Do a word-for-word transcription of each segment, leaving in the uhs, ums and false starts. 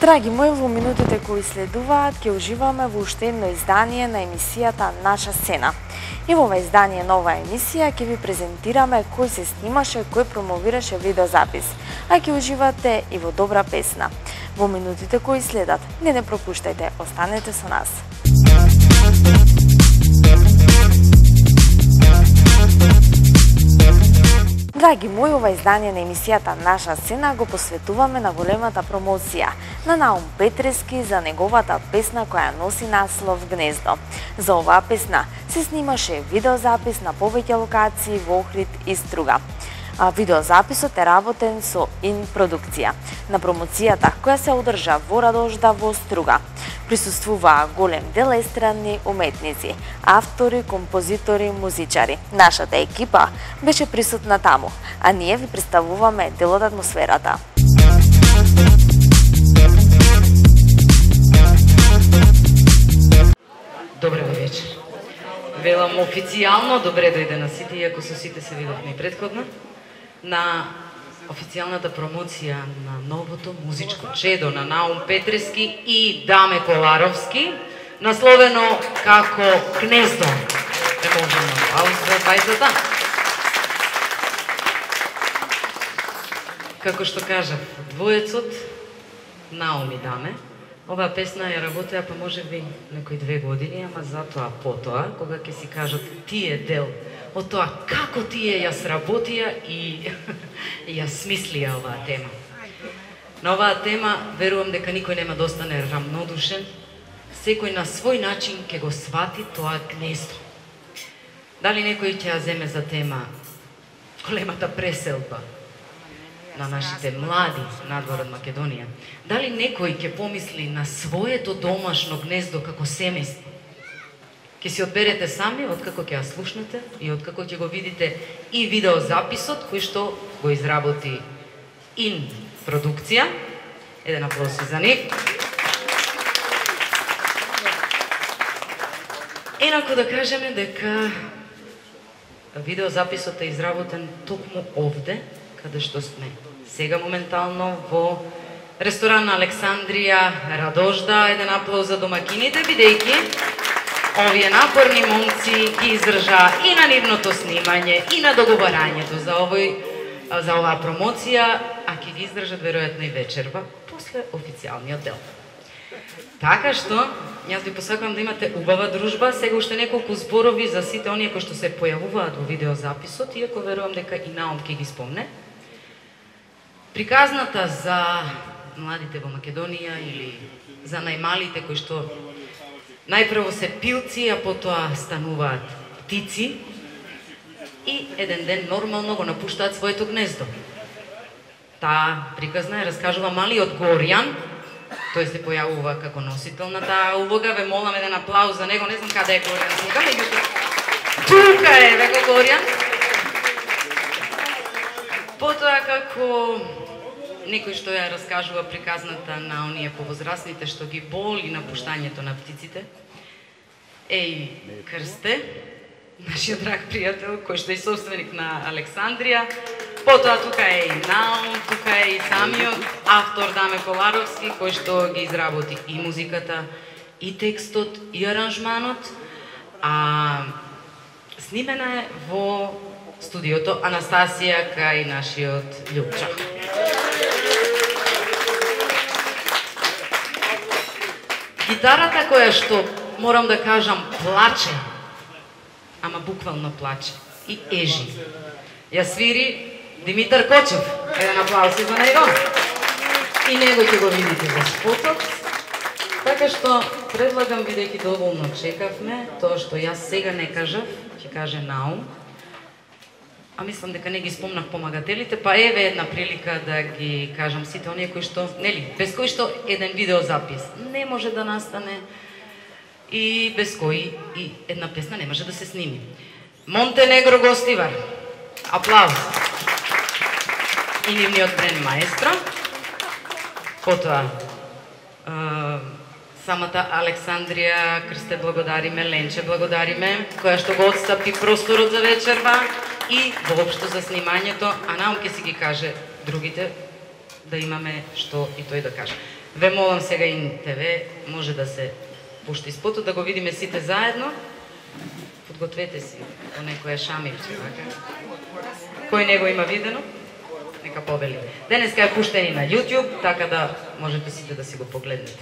Драги мои, во минутите кои следуваат, ќе уживаме во уште едно издание на емисијата Наша сцена. И во ова издание на оваа емисија ќе ви презентираме кој се снимаше, кој промовираше видеозапис, а ќе уживате и во добра песна. Во минутите кои следат, не не пропуштајте, останете со нас. Драги мои, ова издание на емисијата Наша сцена го посветуваме на големата промоција на Наум Петрески за неговата песна која носи наслов Гнездо. За оваа песна се снимаше видеозапис на повеќе локации во Охрид и Струга. А видеозаписот е работен со Ин продукција. На промоцијата која се одржа во Радожда во Струга присуствуваа голем дел естрадни уметници, автори, композитори, музичари. Нашата екипа беше присутна таму, а ние ви представуваме дел од атмосферата. Добре вечер. Велам официјално добре дојде на сите, иако со сите се видовме и предходно, на официјалната промоција на новото музичко чедо на Наум Петрески и Даме Коларовски, насловено како Гнездо. Е можемо пауза бајзата. Како што кажав, двоецот Наум и Даме, оваа песна ја работеа па можеби некои две години, ама затоа потоа, кога ќе си кажат тие дел од тоа како тие ја сработија и ја смислија оваа тема. На оваа тема верувам дека никој нема да остане рамнодушен, секој на свој начин ќе го свати тоа гнездо. Дали некој ќе ја земе за тема големата преселба на нашите млади надвор од Македонија? Дали некој ќе помисли на своето домашно гнездо како семејство? Ќе си одберете сами откако ќе ја слушнете и откако ќе го видите и видеозаписот кој што го изработи Ин продукција. Еден аплауз за нив. Енако да кажеме дека видеозаписот е изработен токму овде, каде што сме сега моментално во ресторан Александрија, Радожда. Еден аплауз за домакините, бидејќи овие напорни момци ги издржаа и на нивното снимање, и на договарањето за овој за оваа промоција, а ќе ги издржат веројатно и вечерва после официјалниот дел. Така што, јас ви посакувам да имате убава дружба. Сега уште неколку зборови за сите оние кои што се појавуваат во видеозаписот, иако верувам дека и Наум ќе ги спомне. Приказната за младите во Македонија или за најмалите кои што најпрво се пилци, а потоа стануваат птици и еден ден нормално го напуштаат своето гнездо. Таа приказна ја раскажува малиот Горјан, тој се појавува како носител на таа улога. Ве молам еден аплауз за него, не знам каде е Горјан сега, меѓутоа тука е веќе Горјан. Потоа како некој што ја раскажува приказната на оние повозрастните што ги боли напуштањето на птиците. Еј, Крсте, нашиот драг пријател, кој што е собственик на Александрија. Потоа тука е и Наум, тука е и самиот автор Даме Коларовски, кој што ги изработи и музиката, и текстот, и аранжманот. А снимена е во студиото Анастасија кај нашиот Љупчо. Гитарата која што, морам да кажам, плаче, ама буквално плаче и ежи, ја свири Димитар Кочев. Еден аплауз за него. И него ќе го видите во спотот. Така што предлагам, бидејќи доволно чекавме, тоа што јас сега не кажав, ќе каже Наум, а мислам дека не ги спомнав помагателите, па еве една прилика да ги кажам сите оние кои што, нели, без кои што еден видеозапис не може да настане и без кои и една песна не може да се сними. Монтенегро Гостивар. Аплауз. И нивниот бренд маестро. Потоа самата Александрија, Крсте благодариме, Ленче благодариме, која што го отстапи просторот за вечерва и воопшто за снимањето, а Наум ќе си ги каже другите да имаме што и тој да каже. Ве молам сега и ТВ може да се пушти спотот, да го видиме сите заедно. Подгответе си по некоја шамирче, така? Кој него има видено? Нека повели. Денеска е пуштен и на YouTube, така да можете сите да си го погледнете.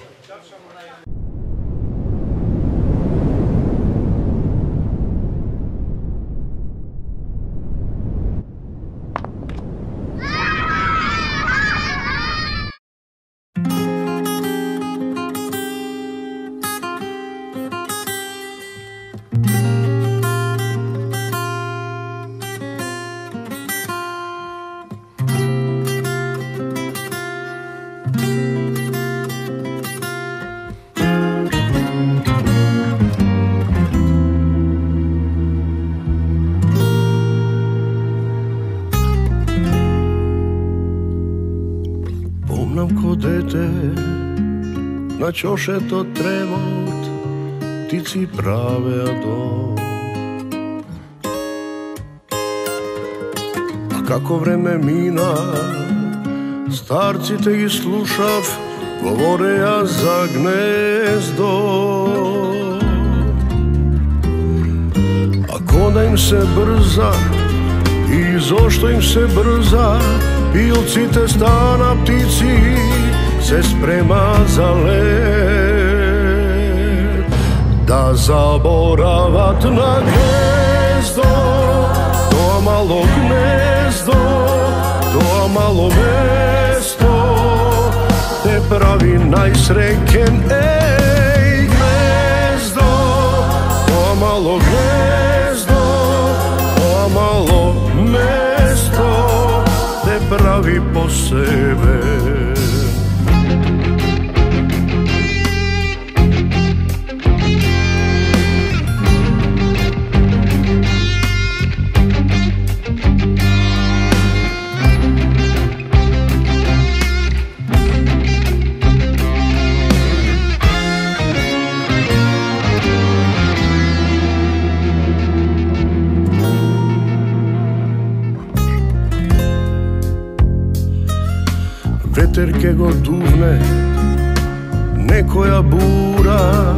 На чошето тревот птици правеа дом. А како време мина, старците ги слушав, говореа за гнездо. А кода им се брза, и зошто им се брза, пилците стана птици, се спрема за лет, да заборават на гнездо, тоа мало гнездо, тоа мало место, те прави најсреќен, еј гнездо, тоа мало гнездо, тоа мало место, те прави посебен. Ветер ке го дувне, некоја бура,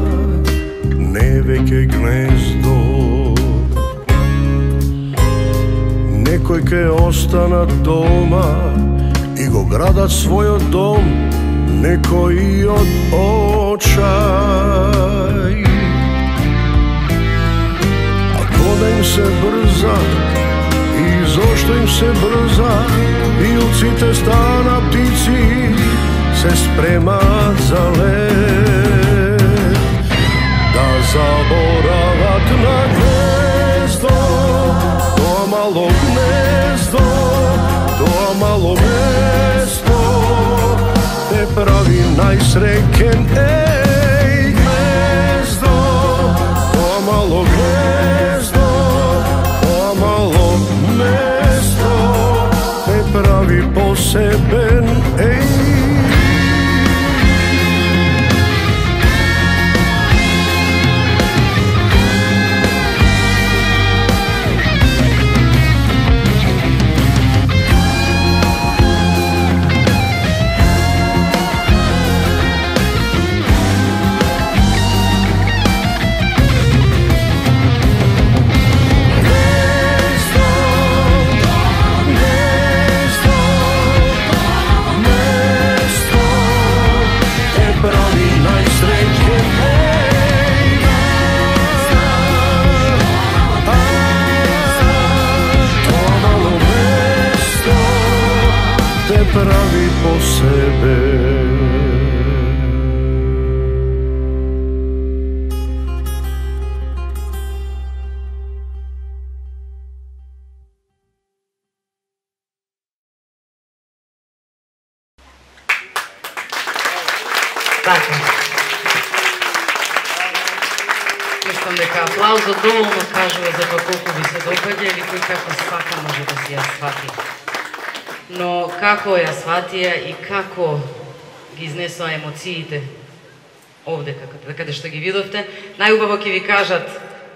не веќе гнездо. Некој ке останат дома и го градат својот дом, некои од очај. А кода им се брза, и зошто им се брза, пилците стана птици, се спремаат за лет, да заборават на гнездо, тоа мало гнездо, тоа мало место, те прави најсреќен, еј гнездо, тоа мало гнездо, тоа мало место, те прави посебен, еј. Прави посебен. Така. Мислам дека аплаузот доволно кажува за тоа колку ви се допаѓа или кој како свака може да си ја свати. Но како ја сватија и како ги изнесоа емоциите овде, каде што ги видовте, најубаво ќе ви кажат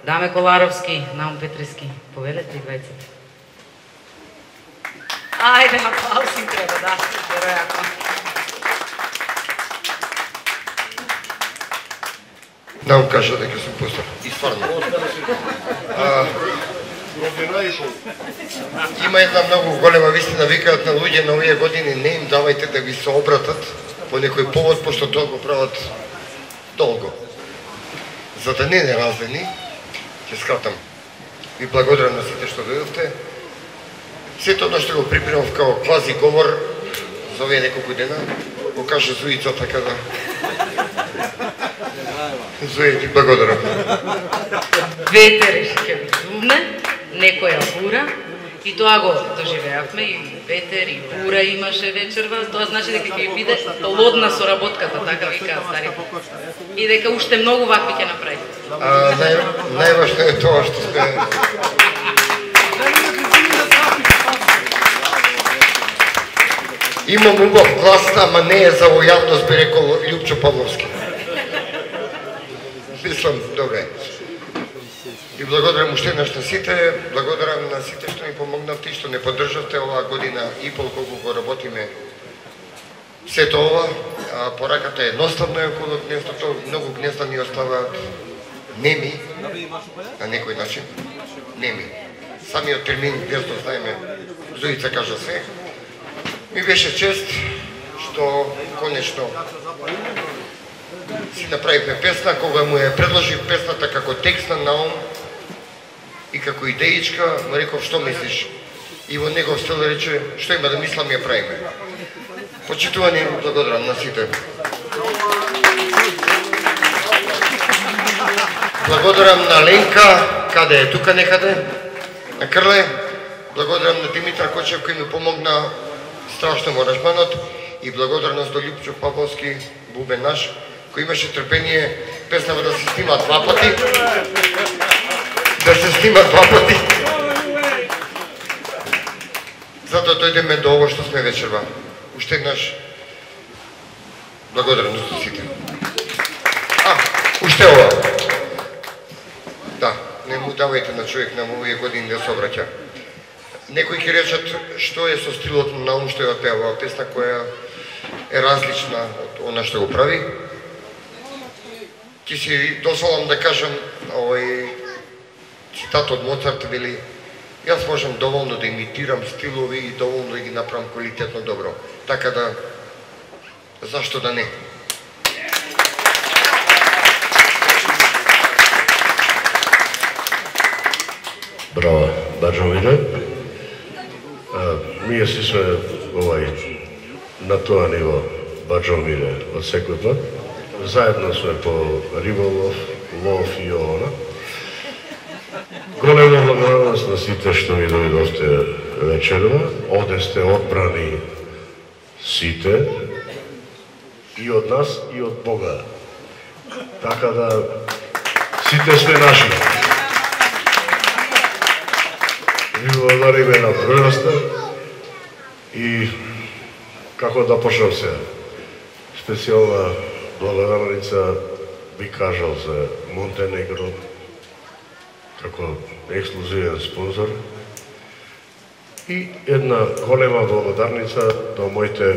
Даме Коларовски, Наум Петрески. Повелете и двајцата. Ајде, аплауз им треба, да, веројатно. Наум кажа дека сум постар. И стварно. А, има една многу голема вистина, викаат на луѓе на овие години, не им давајте да ви се обратат по некој повод, пошто тоа го прават долго. За да не не раздени, ќе скратам. Ви благодарам на сите што дојдовте. Сето одно што го припремав као квази говор за овие неколку дена, го каже Зуица, така да... Зуи, ти благодарам. Ветер ќе ви зумне, некоја бура, и тоа го доживеавме, и ветер, и бура имаше вечерва, тоа значи дека ќе биде лодна соработката, така викаат старите. И дека уште многу вакви ќе направите. А, нај, најважно е тоа што сме... Имам убав глас, ама не е за лојалност, би рекол Љупчо Павловски. Мислам, добре. И благодарам уште еднаш на сите, благодарам на сите што ми помогнавте и што не поддржавте оваа година и пол колку го работиме сето ова. А, пораката е едноставна околу гнездото, многу гнезда ни оставаат неми, на некој начин, неми. Самиот термин гнездо, знаеме, Зуица кажа се. Ми беше чест што конечно си направивме песна, кога му ја предложив песната како текст на Наум и како идеичка, му реков што мислиш? И во негов стил рече што има да мислам ја правиме. Почитувани, благодарам на сите. Благодарам на Ленка, каде е тука некаде, на Крле. Благодарам на Димитар Кочев кој ми помогна страшно во аранжманот и благодарност до Љупчо Павловски, бубен наш, кој имаше трпение песнава да се снима два пати. Да се снима два пати. Затоа дојдеме до ово што сме вечерва. Уште еднаш благодарност до сите. А, уште ова. Да, не му давајте на човек на овие години да се обраќа. Некои ќе речат што е со стилот на Наум што ја пева оваа песна која е различна од она што го прави. Ќе си дозволам да кажам овој цитат од Моцарт, вели: јас можам доволно да имитирам стилови и доволно да ги направам квалитетно добро. Така да, зашто да не? Браво, Баџовине. Ние си сме овај на тоа ниво Баџовине од секој пат. Заедно сме по риболов, лов и овона. Голема благодарност на сите што ми дојдовте вечерва. Овде сте одбрани сите, и од нас, и од Бога. Така да, сите сме наши. Ви благодариме на првноста и како да почнам се. Специјална благодарница би кажал за Монтенегро како ексклузивен спонзор и една голема благодарница до моите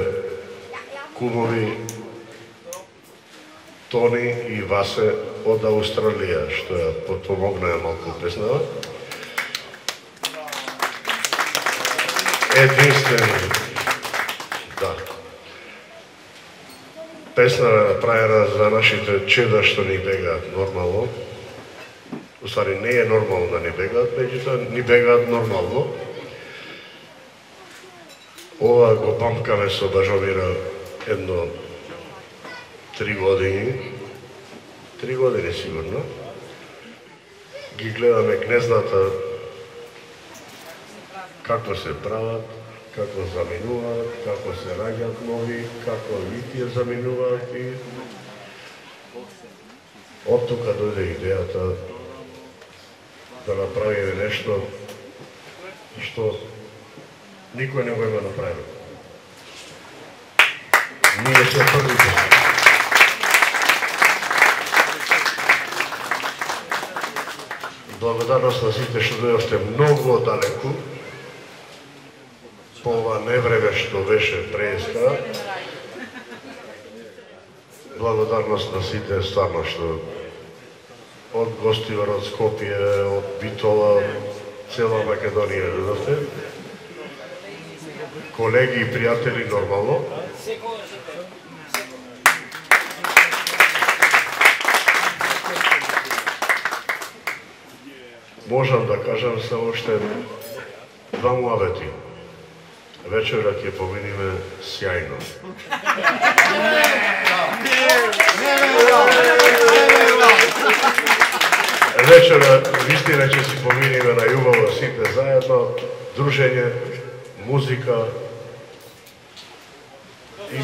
кумови Тони и Васе од Австралија, што ја подпомогнаа малку песнава. Единствен, да. Песна е направена за нашите чеда што ни бегаат нормално. Уствари не е нормално да ни бегаат, меѓутоа ни бегаат нормално. Ова го памкаме со Баџовира едно три години. Три години сигурно. Ги гледаме гнездата како се прават, како заминуваат, како се раѓаат нови, како литија заминуваат и од тука дојде идејата да направиме нешто што никој не го има направено. Ние сме првите. Благодарност на сите што дојдовте многу далеку по ова невреме што беше преска. Благодарност на сите стварно што од Гостивар, од Скопје, од Битола, цела Македонија, видовте. Колеги и пријатели нормално. Можам да кажам само уште два муабети. Вечера ќе поминиме сјајно. Вечера вистина ќе си поминиме на љубаво сите заедно, дружење, музика и,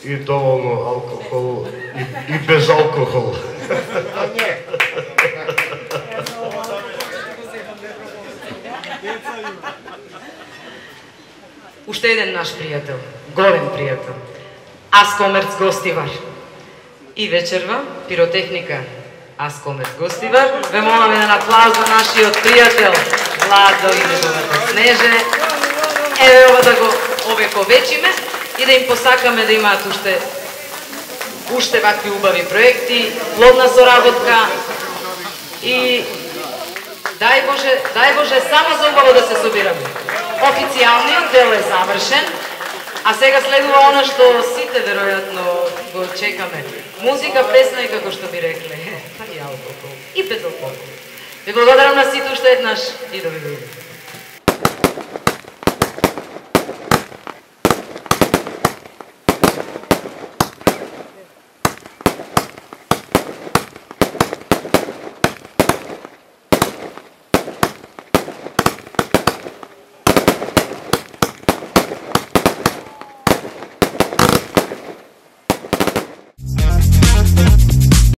и доволно алкохол и, и без алкохол. Уште еден наш пријател, голем пријател, Аскомерц Гостивар. И вечерва, пиротехника Аскомерц Гостивар. Ве молам еден аплауз за нашиот пријател Владо и неговата Снеже. Еве ова да го овековечиме и да им посакаме да имаат уште уште вакви убави проекти, плодна соработка и дај Боже, дај Боже само за убаво да се собираме. Официјалниот дел е завршен, а сега следува она што сите веројатно го чекаме. Музика, песна и како што би рекле, па и алкохол, и без алкохол. Ви благодарам на сите уште еднаш и довидуваме.